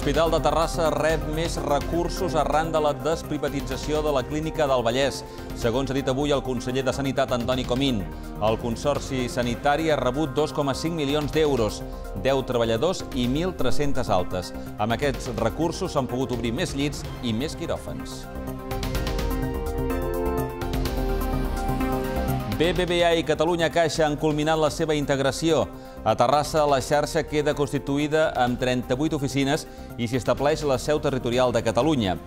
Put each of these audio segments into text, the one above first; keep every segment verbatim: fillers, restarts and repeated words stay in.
L'Hospital de Terrassa rep més recursos arran de la desprivatització de la Clínica del Vallès. Segons ha dit avui el conseller de Sanitat, Antoni Comín, el Consorci Sanitari ha rebut dos coma cinc milions d'euros, deu treballadors i mil tres-centes altes. Amb aquests recursos s'han pogut obrir més llits i més quiròfans. B B V A i Catalunya Caixa han culminat la seva integració. A Terrassa, la xarxa queda constituïda amb trenta-vuit oficines i s'hi estableix la seu territorial de Catalunya.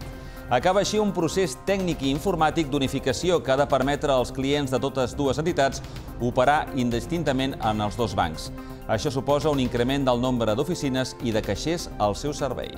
Acaba així un procés tècnic i informàtic d'unificació que ha de permetre als clients de totes dues entitats operar indistintament en els dos bancs. Això suposa un increment del nombre d'oficines i de caixers al seu servei.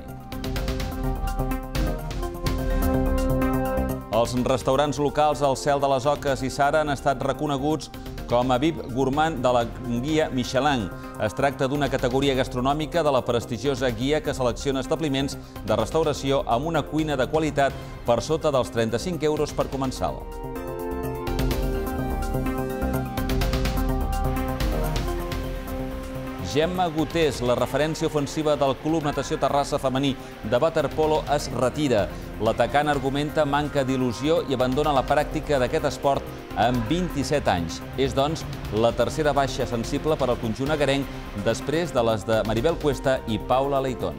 Els restaurants locals al Cel de les Oques i Sara han estat reconeguts com a V I P Gourmand de la guia Michelin. Es tracta d'una categoria gastronòmica de la prestigiosa guia que selecciona establiments de restauració amb una cuina de qualitat per sota dels trenta-cinc euros per comensal. Gemma Gutés, la referència ofensiva del Club Natació Terrassa femení de waterpolo, es retira. L'atacant argumenta manca d'il·lusió i abandona la pràctica d'aquest esport amb vint-i-set anys. És, doncs, la tercera baixa sensible per al conjunt agarenc després de les de Maribel Cuesta i Paula Leitón.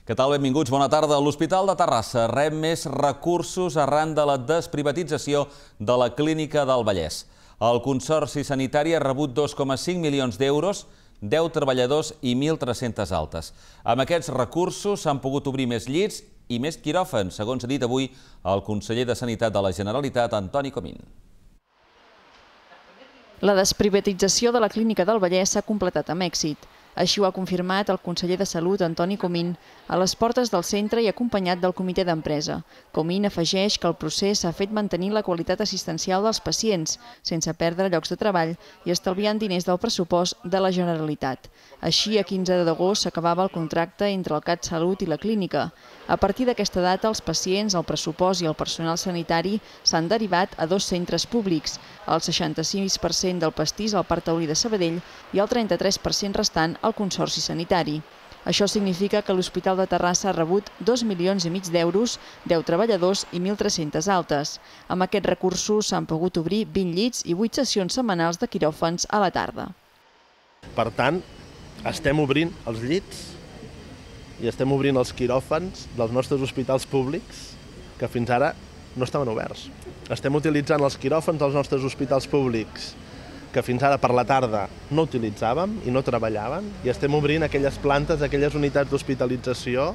Què tal? Benvinguts, bona tarda. L'Hospital de Terrassa rep més recursos arran de la desprivatització de la Clínica del Vallès. El Consorci Sanitari ha rebut dos coma cinc milions d'euros, deu treballadors i mil tres-centes altes. Amb aquests recursos s'han pogut obrir més llits i més quiròfans, segons ha dit avui el conseller de Sanitat de la Generalitat, Antoni Comín. La desprivatització de la Clínica del Vallès s'ha completat amb èxit. Així ho ha confirmat el conseller de Salut, Antoni Comín, a les portes del centre i acompanyat del comitè d'empresa. Comín afegeix que el procés s'ha fet mantenint la qualitat assistencial dels pacients, sense perdre llocs de treball i estalviant diners del pressupost de la Generalitat. Així, a quinze d'agost s'acabava el contracte entre el CatSalut i la clínica. A partir d'aquesta data, els pacients, el pressupost i el personal sanitari s'han derivat a dos centres públics, el seixanta-sis per cent del pastís al Parc Taulí de Sabadell i el trenta-tres per cent restant al Consorci Sanitari. Això significa que l'Hospital de Terrassa ha rebut dos milions i mig d'euros, deu treballadors i mil tres-centes altes. Amb aquests recursos s'han pogut obrir vint llits i vuit sessions setmanals de quiròfans a la tarda. Per tant, estem obrint els llits i estem obrint els quiròfans dels nostres hospitals públics que fins ara no estaven oberts. Estem utilitzant els quiròfans dels nostres hospitals públics que fins ara per la tarda no utilitzàvem i no treballàvem, i estem obrint aquelles plantes, aquelles unitats d'hospitalització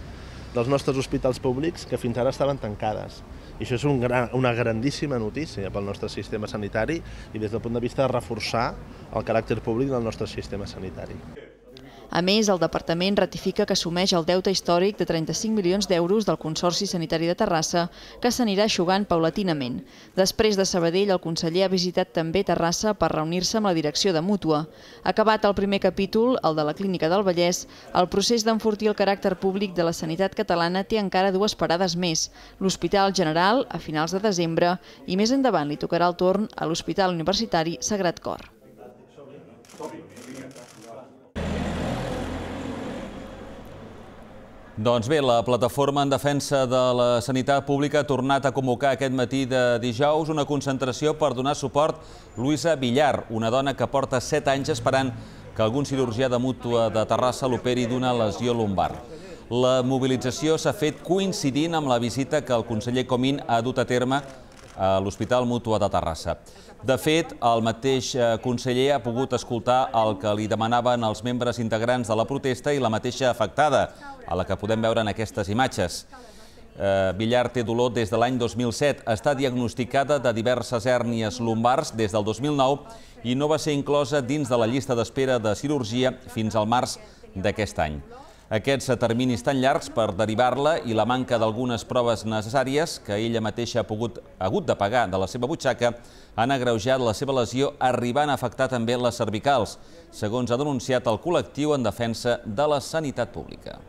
dels nostres hospitals públics que fins ara estaven tancades. I això és un gran, una grandíssima notícia pel nostre sistema sanitari i des del punt de vista de reforçar el caràcter públic del nostre sistema sanitari. A més, el departament ratifica que assumeix el deute històric de trenta-cinc milions d'euros del Consorci Sanitari de Terrassa, que s'anirà eixugant paulatinament. Després de Sabadell, el conseller ha visitat també Terrassa per reunir-se amb la direcció de Mútua. Acabat el primer capítol, el de la Clínica del Vallès, el procés d'enfortir el caràcter públic de la sanitat catalana té encara dues parades més. L'Hospital General, a finals de desembre, i més endavant li tocarà el torn a l'Hospital Universitari Sagrat Cor. Doncs bé, la plataforma en defensa de la sanitat pública ha tornat a convocar aquest matí de dijous una concentració per donar suport a Luisa Villar, una dona que porta set anys esperant que algun cirurgià de Mútua de Terrassa l'operi d'una lesió lumbar. La mobilització s'ha fet coincidint amb la visita que el conseller Comín ha dut a terme a l'Hospital Mútua de Terrassa. De fet, el mateix conseller ha pogut escoltar el que li demanaven els membres integrants de la protesta i la mateixa afectada, a la que podem veure en aquestes imatges. Villar té dolor des de l'any dos mil set, està diagnosticada de diverses hèrnies lumbars des del dos mil nou i no va ser inclosa dins de la llista d'espera de cirurgia fins al març d'aquest any. Aquests terminis tan llargs per derivar-la i la manca d'algunes proves necessàries que ella mateixa ha pogut, hagut de pagar de la seva butxaca han agreujat la seva lesió, arribant a afectar també les cervicals, segons ha denunciat el col·lectiu en defensa de la sanitat pública.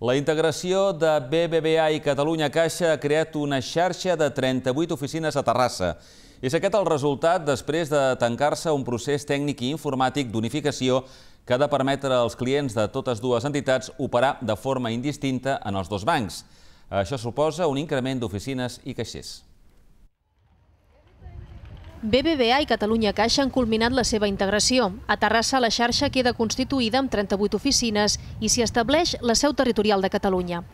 La integració de B B V A i Catalunya Caixa ha creat una xarxa de trenta-vuit oficines a Terrassa. És aquest el resultat després de tancar-se un procés tècnic i informàtic d'unificació que ha de permetre als clients de totes dues entitats operar de forma indistinta en els dos bancs. Això suposa un increment d'oficines i caixers. B B V A i Catalunya Caixa han culminat la seva integració. A Terrassa la xarxa queda constituïda amb trenta-vuit oficines i s'hi estableix la seu territorial de Catalunya.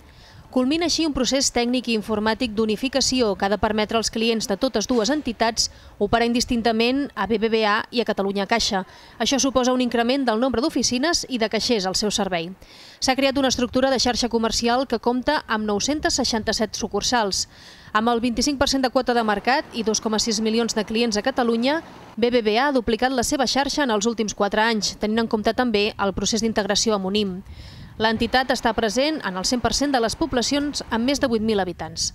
Culmina així un procés tècnic i informàtic d'unificació que ha de permetre als clients de totes dues entitats operar indistintament a B B V A i a Catalunya Caixa. Això suposa un increment del nombre d'oficines i de caixers al seu servei. S'ha creat una estructura de xarxa comercial que compta amb nou-cents seixanta-set sucursals. Amb el vint-i-cinc per cent de quota de mercat i dos coma sis milions de clients a Catalunya, B B V A ha duplicat la seva xarxa en els últims quatre anys, tenint en compte també el procés d'integració amb Unim. L'entitat està present en el cent per cent de les poblacions amb més de vuit mil habitants.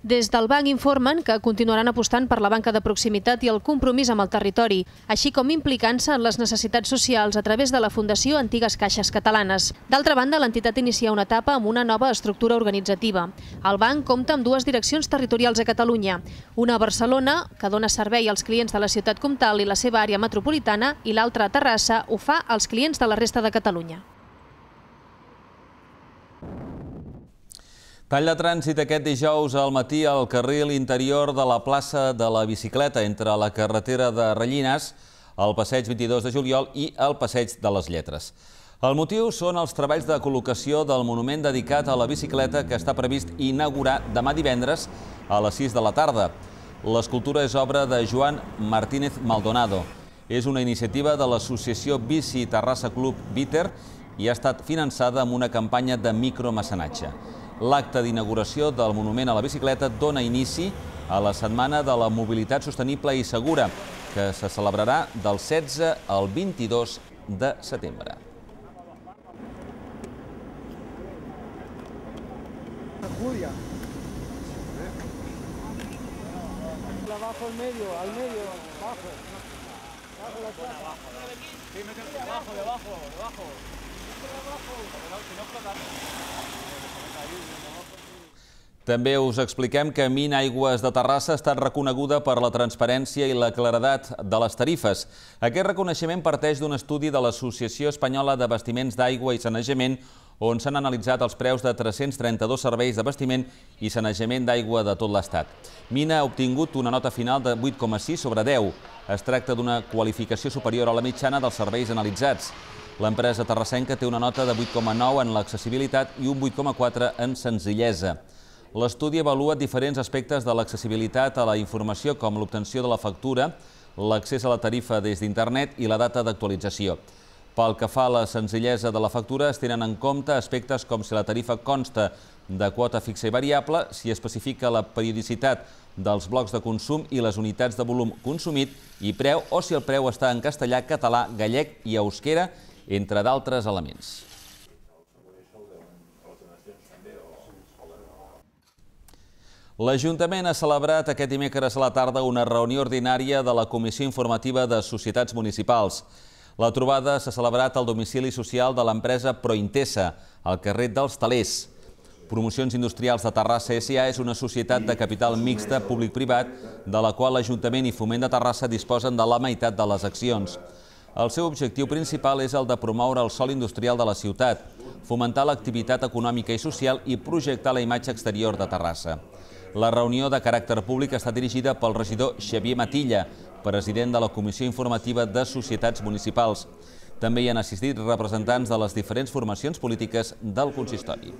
Des del banc informen que continuaran apostant per la banca de proximitat i el compromís amb el territori, així com implicant-se en les necessitats socials a través de la Fundació Antigues Caixes Catalanes. D'altra banda, l'entitat inicia una etapa amb una nova estructura organitzativa. El banc compta amb dues direccions territorials a Catalunya, una a Barcelona, que dona servei als clients de la ciutat comtal i la seva àrea metropolitana, i l'altra a Terrassa ho fa als clients de la resta de Catalunya. Tall de trànsit aquest dijous al matí al carril interior de la plaça de la Bicicleta entre la carretera de Rellinars, el passeig vint-i-dos de juliol i el passeig de les Lletres. El motiu són els treballs de col·locació del monument dedicat a la bicicleta que està previst inaugurar demà divendres a les sis de la tarda. L'escultura és obra de Joan Martínez Maldonado. És una iniciativa de l'associació Bici Terrassa Club Biter i ha estat finançada amb una campanya de micromecenatge. L'acte d'inauguració del monument a la bicicleta dona inici a la Setmana de la Mobilitat Sostenible i Segura, que se celebrarà del setze al vint-i-dos de setembre. Julia. Abajo, al medio, al medio, abajo. Abajo la plaza. Sí, métete abajo, debajo, debajo. També us expliquem que Mina Aigües de Terrassa ha estat reconeguda per la transparència i la claredat de les tarifes. Aquest reconeixement parteix d'un estudi de l'Associació Espanyola d'Abastiments d'Aigua i Sanejament, on s'han analitzat els preus de tres-cents trenta-dos serveis d'abastiment i sanejament d'aigua de tot l'Estat. Mina ha obtingut una nota final de vuit coma sis sobre deu. Es tracta d'una qualificació superior a la mitjana dels serveis analitzats. L'empresa terrassenca té una nota de vuit coma nou en l'accessibilitat i un vuit coma quatre en senzillesa. L'estudi avalua diferents aspectes de l'accessibilitat a la informació, com l'obtenció de la factura, l'accés a la tarifa des d'internet i la data d'actualització. Pel que fa a la senzillesa de la factura, es tenen en compte aspectes com si la tarifa consta de quota fixa i variable, si especifica la periodicitat dels blocs de consum i les unitats de volum consumit i preu, o si el preu està en castellà, català, gallec i euskera, entre d'altres elements. L'Ajuntament ha celebrat aquest dimecres a la tarda una reunió ordinària de la Comissió Informativa de Societats Municipals. La trobada s'ha celebrat al domicili social de l'empresa Prointesa, al carrer dels Talers. Promocions Industrials de Terrassa S A és una societat de capital mixta públic-privat, de la qual l'Ajuntament i Foment de Terrassa disposen de la meitat de les accions. El seu objectiu principal és el de promoure el sòl industrial de la ciutat, fomentar l'activitat econòmica i social i projectar la imatge exterior de Terrassa. La reunió de caràcter públic està dirigida pel regidor Xavier Matilla, president de la Comissió Informativa de Societats Municipals. També hi han assistit representants de les diferents formacions polítiques del consistori.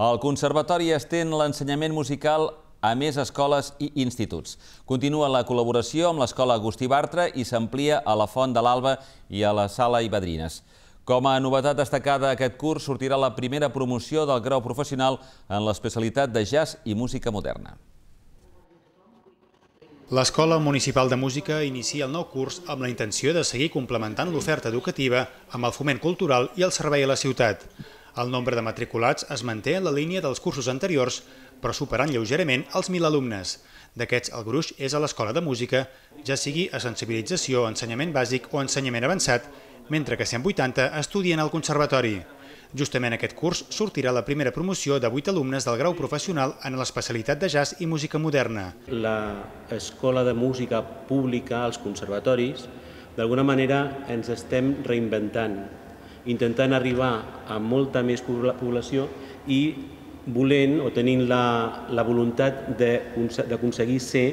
El Conservatori estén l'ensenyament musical a més escoles i instituts. Continua la col·laboració amb l'Escola Agustí Bartra i s'amplia a la Font de l'Alba i a la Sala Ibadrines. Com a novetat destacada, aquest curs sortirà la primera promoció del grau professional en l'especialitat de jazz i música moderna. L'Escola Municipal de Música inicia el nou curs amb la intenció de seguir complementant l'oferta educativa amb el foment cultural i el servei a la ciutat. El nombre de matriculats es manté en la línia dels cursos anteriors, però superant lleugerament els mil alumnes. D'aquests, el gruix és a l'Escola de Música, ja sigui a sensibilització, ensenyament bàsic o ensenyament avançat, mentre que cent vuitanta estudien al Conservatori. Justament aquest curs sortirà la primera promoció de vuit alumnes del grau professional en l'especialitat de jazz i música moderna. L'escola de música pública, els conservatoris, d'alguna manera ens estem reinventant, intentant arribar a molta més població i volent o tenint la, la voluntat d'aconseguir ser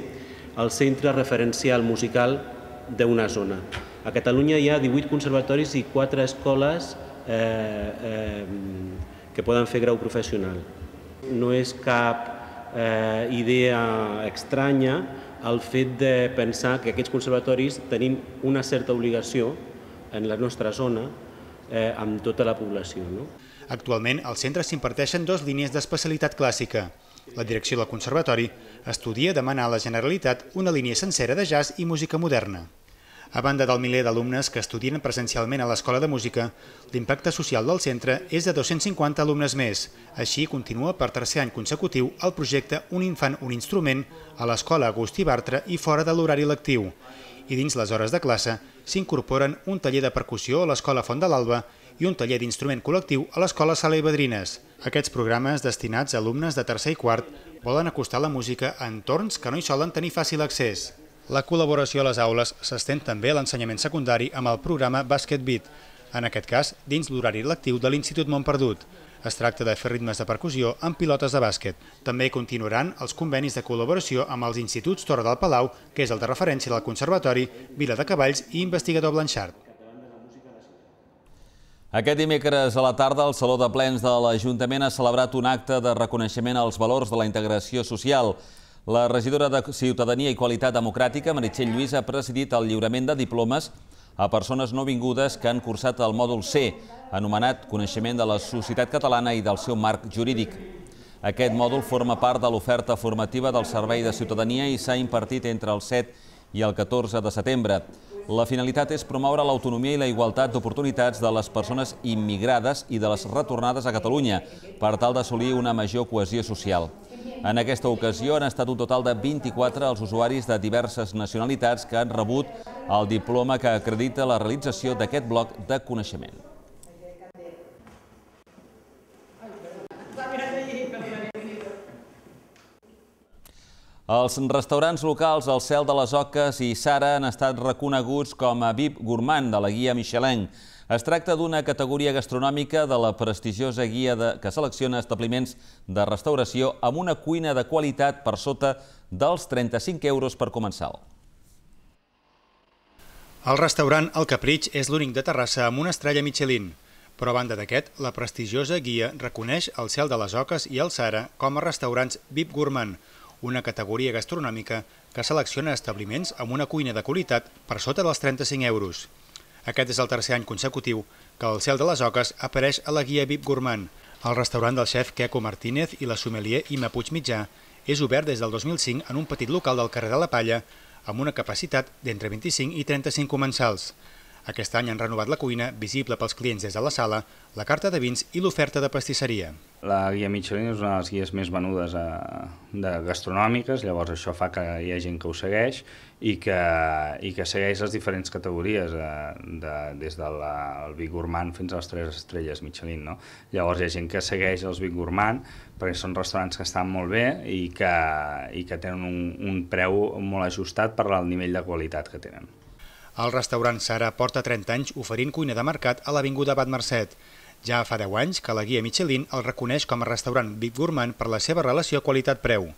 el centre referencial musical d'una zona. A Catalunya hi ha divuit conservatoris i quatre escoles eh, eh, que poden fer grau professional. No és cap eh, idea estranya el fet de pensar que aquests conservatoris tenim una certa obligació en la nostra zona eh, amb tota la població, no? Actualment, al centre s'imparteixen dues línies d'especialitat clàssica. La direcció del Conservatori estudia demanar a la Generalitat una línia sencera de jazz i música moderna. A banda del miler d'alumnes que estudien presencialment a l'Escola de Música, l'impacte social del centre és de dos-cents cinquanta alumnes més. Així, continua per tercer any consecutiu el projecte Un infant, un instrument a l'Escola Agustí Bartra i fora de l'horari lectiu. I dins les hores de classe s'incorporen un taller de percussió a l'Escola Font de l'Alba i un taller d'instrument col·lectiu a l'Escola Sala i Badrines. Aquests programes, destinats a alumnes de tercer i quart, volen acostar la música a entorns que no hi solen tenir fàcil accés. La col·laboració a les aules s'estén també a l'ensenyament secundari amb el programa Basket Beat, en aquest cas dins l'horari lectiu de l'Institut Montperdut. Es tracta de fer ritmes de percussió amb pilotes de bàsquet. També continuaran els convenis de col·laboració amb els instituts Torre del Palau, que és el de referència del Conservatori, Vila de Cavalls i Investigador Blanchard. Aquest dimecres a la tarda, el Saló de Plens de l'Ajuntament ha celebrat un acte de reconeixement als valors de la integració social. La regidora de Ciutadania i Qualitat Democràtica, Meritxell Lluís, ha presidit el lliurament de diplomes a persones no vingudes que han cursat el mòdul C, anomenat Coneixement de la Societat Catalana i del seu marc jurídic. Aquest mòdul forma part de l'oferta formativa del Servei de Ciutadania i s'ha impartit entre el set i el catorze de setembre. La finalitat és promoure l'autonomia i la igualtat d'oportunitats de les persones immigrades i de les retornades a Catalunya per tal d'assolir una major cohesió social. En aquesta ocasió han estat un total de vint-i-quatre els usuaris de diverses nacionalitats que han rebut el diploma que acredita la realització d'aquest bloc de coneixement. Els restaurants locals El Cel de les Oques i Sara han estat reconeguts com a V I P Gourmand de la guia Michelin. Es tracta d'una categoria gastronòmica de la prestigiosa guia que selecciona establiments de restauració amb una cuina de qualitat per sota dels trenta-cinc euros per comensal. El restaurant El Capritx és l'únic de Terrassa amb una estrella Michelin. Però a banda d'aquest, la prestigiosa guia reconeix El Cel de les Oques i el Sara com a restaurants V I P Gourmand, una categoria gastronòmica que selecciona establiments amb una cuina de qualitat per sota dels trenta-cinc euros. Aquest és el tercer any consecutiu que El Cel de les Oques apareix a la guia V I P Gourmand. El restaurant del xef Queco Martínez i la sommelier Ima Puigmitjà és obert des del dos mil cinc en un petit local del carrer de la Palla amb una capacitat d'entre vint-i-cinc i trenta-cinc comensals. Aquest any han renovat la cuina, visible pels clients des de la sala, la carta de vins i l'oferta de pastisseria. La guia Michelin és una de les guies més venudes de gastronòmiques, llavors això fa que hi ha gent que ho segueix i que, i que segueix les diferents categories, de, des del V I P Gourmand fins a les tres estrelles Michelin. No? Llavors hi ha gent que segueix els V I P Gourmand perquè són restaurants que estan molt bé i que, i que tenen un, un preu molt ajustat per al nivell de qualitat que tenen. El restaurant Sara porta trenta anys oferint cuina de mercat a l'Avinguda Abat Mercet. Ja fa deu anys que la guia Michelin el reconeix com a restaurant V I P Gourmand per la seva relació qualitat-preu.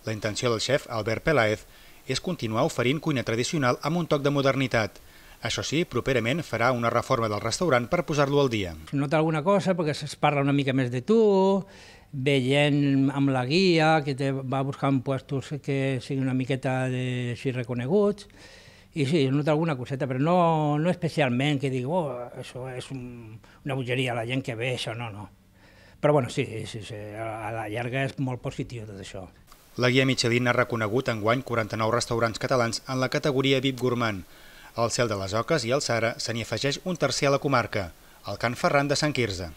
La intenció del xef Albert Peláez és continuar oferint cuina tradicional amb un toc de modernitat. Això sí, properament farà una reforma del restaurant per posar-lo al dia. Nota alguna cosa perquè es parla una mica més de tu, veient amb la guia, que te va buscant puestos que siguin una miqueta de, així reconeguts. I sí, nota alguna coseta, però no, no especialment que digui, oh, això és un, una bogeria, la gent que ve, això no, no. Però bueno, sí, sí, sí, a la llarga és molt positiu tot això. La guia Michelin ha reconegut enguany quaranta-nou restaurants catalans en la categoria V I P Gourmand. Al Cel de les Oques i al Sara se n'hi afegeix un tercer a la comarca, el Can Ferran de Sant Quirze.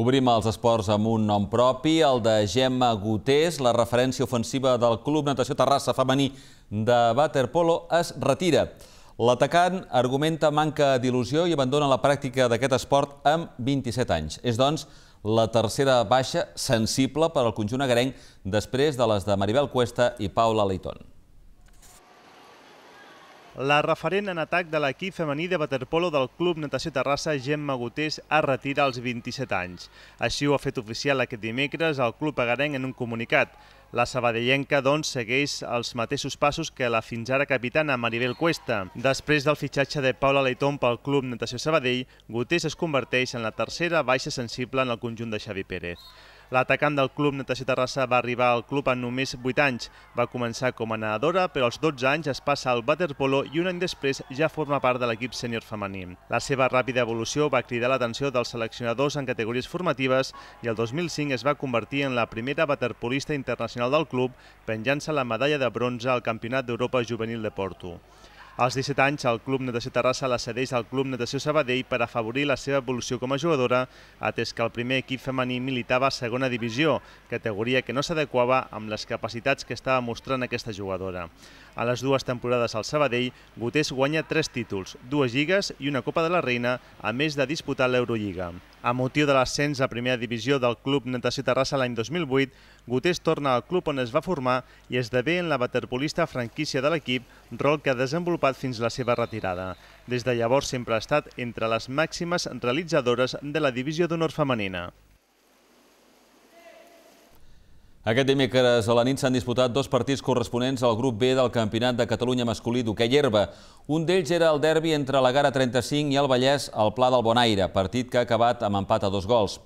Obrim els esports amb un nom propi, el de Gemma Gutés. La referència ofensiva del Club Natació Terrassa femení de waterpolo es retira. L'atacant argumenta manca d'il·lusió i abandona la pràctica d'aquest esport amb vint-i-set anys. És, doncs, la tercera baixa sensible per al conjunt agarenc després de les de Maribel Cuesta i Paula Leiton. La referent en atac de l'equip femení de waterpolo del Club Natació Terrassa, Gemma Gutés, es retira als vint-i-set anys. Així ho ha fet oficial aquest dimecres el club agarenc en un comunicat. La sabadellenca, doncs, segueix els mateixos passos que la fins ara capitana Maribel Cuesta. Després del fitxatge de Paula Leiton pel Club Natació Sabadell, Gutés es converteix en la tercera baixa sensible en el conjunt de Xavi Pérez. L'atacant del Club Natació Terrassa va arribar al club en només vuit anys. Va començar com a nedadora, però als dotze anys es passa al waterpolo i un any després ja forma part de l'equip sènior femení. La seva ràpida evolució va cridar l'atenció dels seleccionadors en categories formatives i el dos mil cinc es va convertir en la primera waterpolista internacional del club, penjant-se la medalla de bronze al Campionat d'Europa Juvenil de Porto. Als disset anys, el Club Natació Terrassa la cedeix al Club Natació Sabadell per afavorir la seva evolució com a jugadora, atès que el primer equip femení militava a segona divisió, categoria que no s'adequava amb les capacitats que estava mostrant aquesta jugadora. A les dues temporades al Sabadell, Gutés guanya tres títols, dues lligues i una Copa de la Reina, a més de disputar l'Eurolliga. A motiu de l'ascens a primera divisió del Club Natació Terrassa l'any dos mil vuit, Gutés torna al club on es va formar i esdevé en la waterpolista franquícia de l'equip, rol que ha desenvolupat fins la seva retirada. Des de llavors sempre ha estat entre les màximes realitzadores de la divisió d'honor femenina. Aquest dimecres a la nit s'han disputat dos partits corresponents al grup B del Campionat de Catalunya masculí d'hoquei herba. Un d'ells era el derbi entre la Gara trenta-cinc i el Vallès al Pla del Bonaire, partit que ha acabat amb empat a dos gols.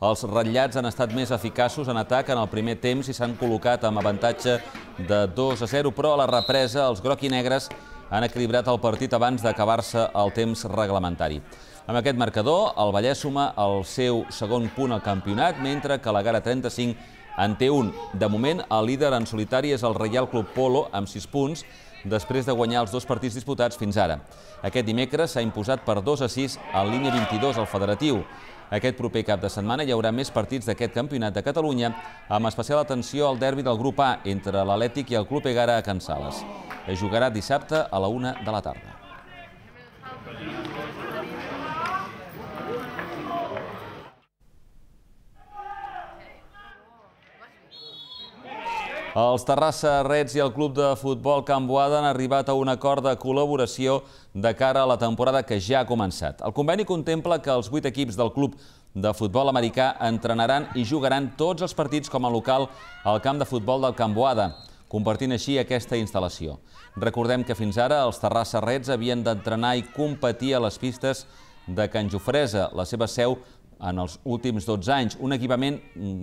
Els ratllats han estat més eficaços en atac en el primer temps i s'han col·locat amb avantatge de dos a zero, però a la represa els groc i negres han equilibrat el partit abans d'acabar-se el temps reglamentari. Amb aquest marcador, el Vallès suma el seu segon punt al campionat, mentre que la Gara trenta-cinc en té un. De moment, el líder en solitari és el Reial Club Polo, amb sis punts, després de guanyar els dos partits disputats fins ara. Aquest dimecres s'ha imposat per dos a sis en línia vint-i-dos al Federatiu. Aquest proper cap de setmana hi haurà més partits d'aquest campionat de Catalunya, amb especial atenció al derbi del grup A entre l'Atlètic i el Club Egara a Can Sales. Es jugarà dissabte a la una de la tarda. Els Terrassa Reds i el club de futbol Can Boada han arribat a un acord de col·laboració de cara a la temporada que ja ha començat. El conveni contempla que els vuit equips del club de futbol americà entrenaran i jugaran tots els partits com a local al camp de futbol del Can Boada, compartint així aquesta instal·lació. Recordem que fins ara els Terrassa Reds havien d'entrenar i competir a les pistes de Can Jofresa, la seva seu, en els últims dotze anys, un equipament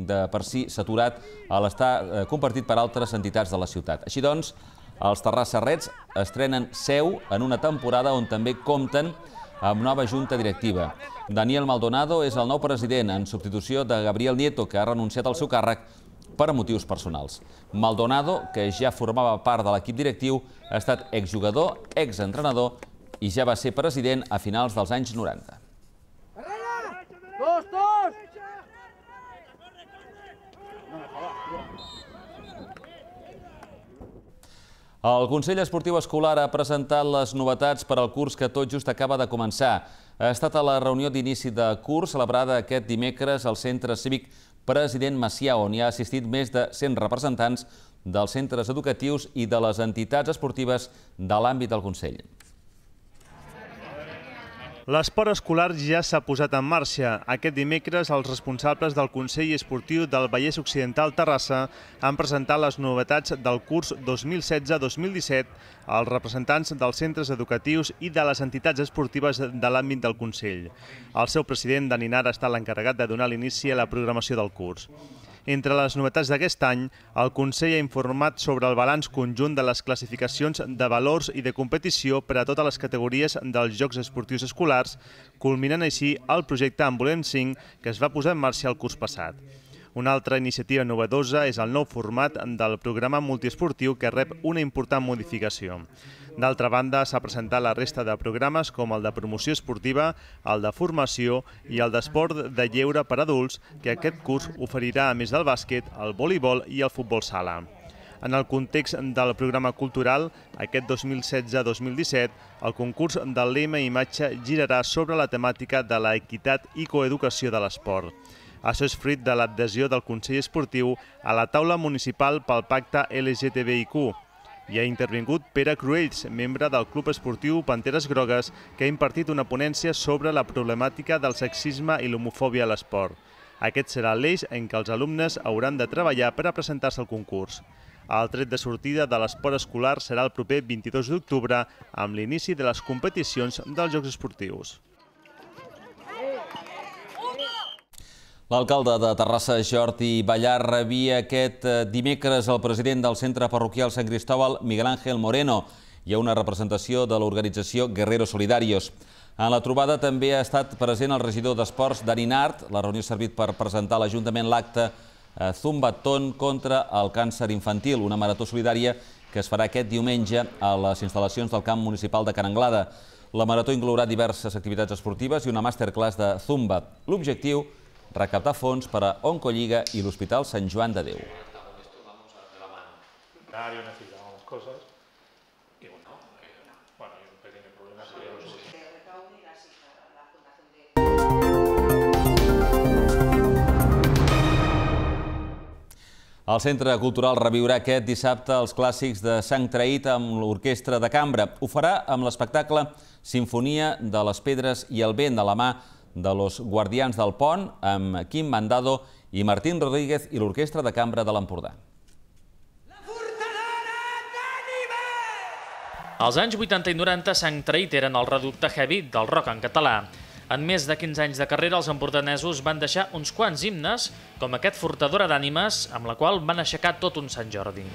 de per si saturat a l'estar compartit per altres entitats de la ciutat. Així doncs, els Terrassa Reds estrenen seu en una temporada on també compten amb nova junta directiva. Daniel Maldonado és el nou president en substitució de Gabriel Nieto, que ha renunciat al seu càrrec per motius personals. Maldonado, que ja formava part de l'equip directiu, ha estat exjugador, exentrenador i ja va ser president a finals dels anys noranta. ¡Dos, dos! El Consell Esportiu Escolar ha presentat les novetats per al curs que tot just acaba de començar. Ha estat a la reunió d'inici de curs celebrada aquest dimecres al Centre Cívic President Macià, on hi ha assistit més de cent representants dels centres educatius i de les entitats esportives de l'àmbit del Consell. L'esport escolar ja s'ha posat en marxa. Aquest dimecres, els responsables del Consell Esportiu del Vallès Occidental Terrassa han presentat les novetats del curs dos mil setze dos mil disset als representants dels centres educatius i de les entitats esportives de l'àmbit del Consell. El seu president, Dani Nara, ha estat l'encarregat de donar l'inici a la programació del curs. Entre les novetats d'aquest any, el Consell ha informat sobre el balanç conjunt de les classificacions de valors i de competició per a totes les categories dels Jocs Esportius Escolars, culminant així el projecte En Volem cinc que es va posar en marxa el curs passat. Una altra iniciativa novedosa és el nou format del programa multiesportiu que rep una important modificació. D'altra banda, s'ha presentat la resta de programes com el de promoció esportiva, el de formació i el d'esport de lleure per adults, que aquest curs oferirà, a més del bàsquet, el voleibol i el futbol sala. En el context del programa cultural, aquest dos mil setze dos mil disset, el concurs del lema i imatge girarà sobre la temàtica de la equitat i coeducació de l'esport. Això és fruit de l'adhesió del Consell Esportiu a la taula municipal pel pacte L G T B I Q. Hi ha intervingut Pere Cruells, membre del Club Esportiu Panteres Grogues, que ha impartit una ponència sobre la problemàtica del sexisme i l'homofòbia a l'esport. Aquest serà l'eix en què els alumnes hauran de treballar per a presentar-se al concurs. El tret de sortida de l'esport escolar serà el proper vint-i-dos d'octubre, amb l'inici de les competicions dels Jocs Esportius. L'alcalde de Terrassa, Jordi Ballar, rebia aquest dimecres el president del Centre Parroquial Sant Cristóbal, Miguel Ángel Moreno. Hi ha una representació de l'organització Guerreros Solidarios. En la trobada també ha estat present el regidor d'Esports, Dani Nart. La reunió ha servit per presentar a l'Ajuntament l'acte Zumbaton contra el càncer infantil, una marató solidària que es farà aquest diumenge a les instal·lacions del camp municipal de Can Anglada. La marató inclourà diverses activitats esportives i una masterclass de Zumba. L'objectiu, recaptar fons per a Oncolliga i l'Hospital Sant Joan de Déu. El Centre Cultural reviurà aquest dissabte els clàssics de Sant Traït amb l'Orquestra de Cambra. Ho farà amb l'espectacle Sinfonia de les Pedres i el Vent, de la mà de los Guardians del Pont, amb Quim Mandado i Martín Rodríguez i l'Orquestra de Cambra de l'Empordà. Als anys vuitanta i noranta, Sant Traït eren el reducte heavy del rock en català. En més de quinze anys de carrera, els empordanesos van deixar uns quants himnes, com aquest Fortadora d'ànimes, amb la qual van aixecar tot un Sant Jordi.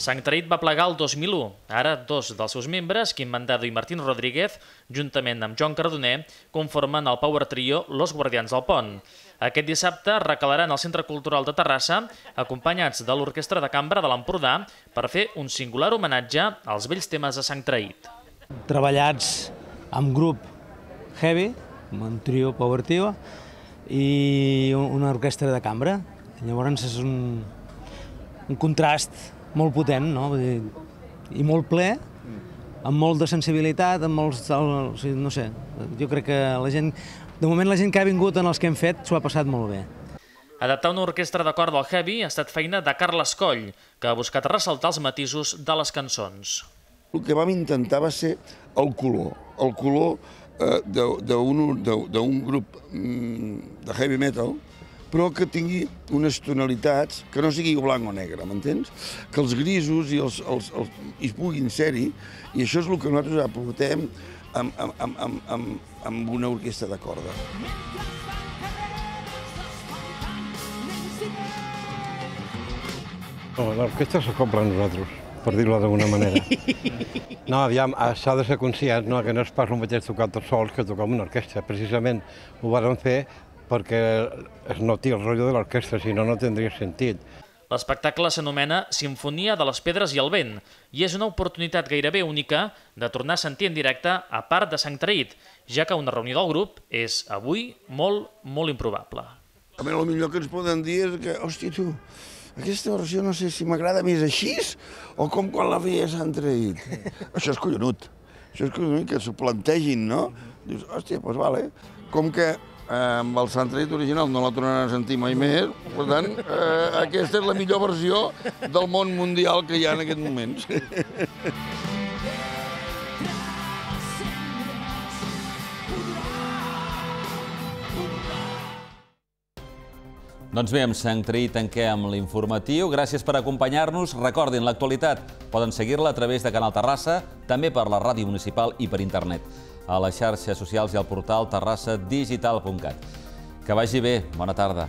Sant Traït va plegar el dos mil u. Ara, dos dels seus membres, Quim Mandado i Martín Rodríguez, juntament amb Joan Cardoner, conformen el power trio Los Guardians del Pont. Aquest dissabte recalaran al Centre Cultural de Terrassa, acompanyats de l'Orquestra de Cambra de l'Empordà, per fer un singular homenatge als vells temes de Sant Traït. Treballats amb grup heavy, amb un trio power trio, i una orquestra de cambra. Llavors és un, un contrast molt potent, no? I molt ple, amb molt de sensibilitat, amb molts... no sé, jo crec que la gent... De moment la gent que ha vingut en els que hem fet s'ho ha passat molt bé. Adaptar una orquestra de cor del heavy ha estat feina de Carles Coll, que ha buscat ressaltar els matisos de les cançons. El que vam intentar va ser el color, el color d'un grup de heavy metal, però que tingui unes tonalitats, que no sigui blanc o negre, m'entens? Que els grisos i els, els, els, hi puguin ser-hi, i això és el que nosaltres aportem amb, amb, amb, amb, amb una orquestra de corda. L'orquestra se compra a nosaltres, per dir-ho d'alguna manera. No, aviam, s'ha de ser conscient, no, que no és pas el mateix tocar tots sols que tocar amb una orquestra. Precisament ho vàrem fer perquè es noti el rotllo de l'orquestra, si no, no tindria sentit. L'espectacle s'anomena Sinfonia de les Pedres i el Vent i és una oportunitat gairebé única de tornar a sentir en directe a part de Sant Traït, ja que una reunió del grup és avui molt, molt improbable. A mi el millor que ens poden dir és que, hòstia, tu, aquesta versió no sé si m'agrada més així o com quan la veia a Sant Traït. Això és collonut, això és collonut que s'ho plantegin, no? Dius, hòstia, doncs vale. Com que amb el Sant Traït original no la tornaran a sentir mai més, per tant, eh, aquesta és la millor versió del món mundial que hi ha en aquests moments. Doncs bé, amb Sant Traït tanquem l'informatiu. Gràcies per acompanyar-nos. Recordin, l'actualitat poden seguir-la a través de Canal Terrassa, també per la ràdio municipal i per internet, a les xarxes socials i al portal terrassa digital punt cat. Que vagi bé. Bona tarda.